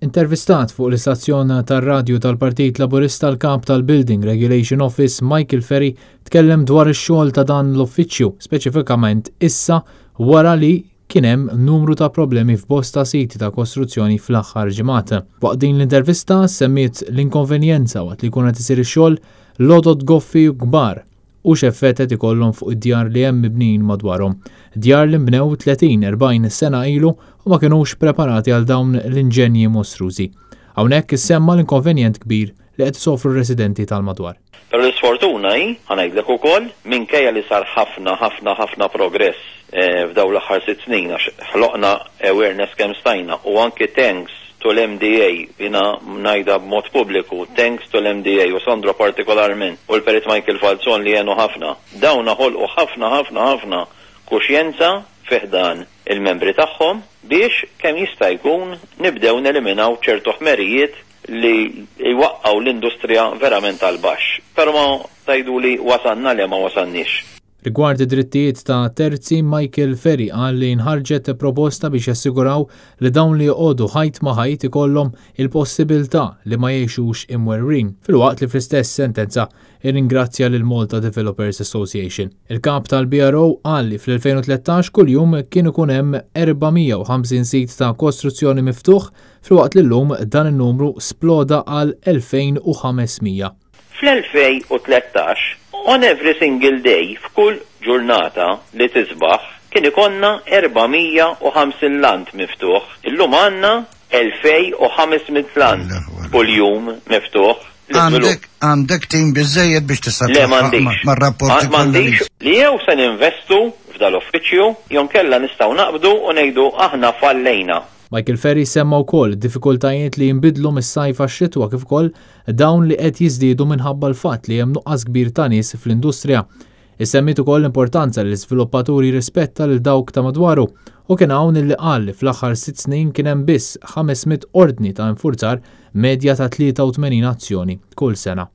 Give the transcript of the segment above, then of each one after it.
Intervistat fuq l-istazzjon tar-radju tal-Partit Laburista l-Kap tal-Building Regulation Office Michael Ferry tkellem dwar ix-xogħol ta' dan l-uffiċċju, speċifikament issa wara li kien hemm numru ta' problemi f'bosta siti ta' kostruzzjoni fl-aħħar ġimgħat. Waqt din l-intervista semmiet l-inkonvenjenza waqt li jkun qed isir ix-xogħol l-għodod goffi u kbar u x'effett qed ikollhom fuq id-djar li hemm mibnijin madwarhom. Djar li nbnew 30-40 sena ilu u ma kinux preparati għal dawn l-inġenji mostrużi. Hawnhekk issemma l-inkonvenjent kbir li qed isofru r-residenti tal-madwar. Però l-isfortuna hi, ħa ngħidlek ukoll, minkejja li sar ħafna, ħafna, ħafna progress f'dawn l-aħħar 6 snin għax ħloqna awareness kemm stajna u anki thanks to l-MDA, jiena ngħidha b'mod pubbliku, thanks to l-MDA u Sandro partikolarment u l-Perit Michael Falzon li għenu ħafna. Dawn ħolqu ħafna, ħafna, ħafna kuxjenza fi ħdan il-membri tagħhom biex kemm jista' jkun nibdew neliminaw ċertu ħmerijiet li jwaqqgħu l-industrija verament għal baxx. Però ma tgħidu li wasalna le ma wasalniex. Rigward id-drittijiet ta' terzi, Michael Ferry qal li nħarġet proposta biex jassiguraw li dawn li joqogħdu ħajt ma' ħajt ikollhom il-possibilità li ma jgħixux imwerwrin. Filwaqt li fl-istess sentenza irringrazzja lil Malta Developers Association. Il-kap tal-BRO qal li fl-2013 kuljum kien ikun hemm 450 sit ta' kostruzzjoni miftuħ filwaqt li llum dan in-numru sploda għal 2500. Fl-2013, on every single day, f'kull ġurnata li tisbaħ, kien ikollna 450 lant miftuħ. Illum għandna 2500 lant kull jum miftuħ. Għandek tim biżejjed biex tista' Le m'għandix. mar-rapporti M'għandix li jew se ninvestu f'dal-uffiċċju, jew inkella nistgħu naqbdu u ngħidu aħna fallejna. Michael Ferry semma wkoll diffikultajiet li jinbidlu mis-sajf għax-xitwa kif ukoll dawn li qed jiżdiedu minħabba l-fatt li hemm nuqqas kbir ta' nies fl-industrija. Issemmiet ukoll l-importanza li l-iżviluppaturi rispetta lil dawk ta' madwaru u kien hawn illi qal li fl-aħħar 6 snin kien hemm biss 500 ordni ta' infurzar medja ta' 83 azzjoni kull sena.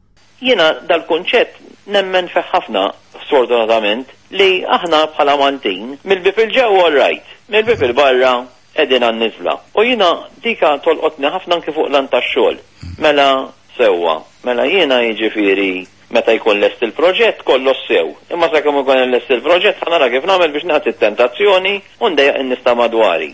Jiena dal-kunċett nemmen fih ħafna sfortunatament li aħna bħala Maltin mill-bib il-ġewwa all right, mill-bib il-barra qegħdin għan-niżla. U jiena dika tolqotni ħafna anki fuq lan tax-xogħol. Mela sewwa, mela jiena jiġifieri meta jkun lest il-proġett kollox sew. Imma sakemm ikun lest il-proġett ħa nara kif nagħmel biex nagħti tentazzjoni u ndejjaq in-nies ta' madwari.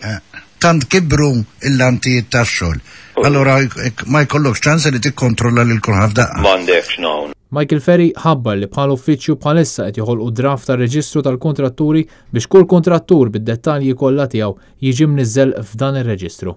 Tant kibru il-lantijiet tax-xogħol. Allora ma jkollokx ċans li tikkontrolla lil kulħadd f'daqqa. M'għandekx no. Michael Ferry ħabbar li bħal uffiċċju bħalissa qed joħolqu draft ta' reġistru tal-kontratturi biex kull kontrattur bid-dettalji kollha tiegħu jiġi mniżżel f'dan ir-reġistru.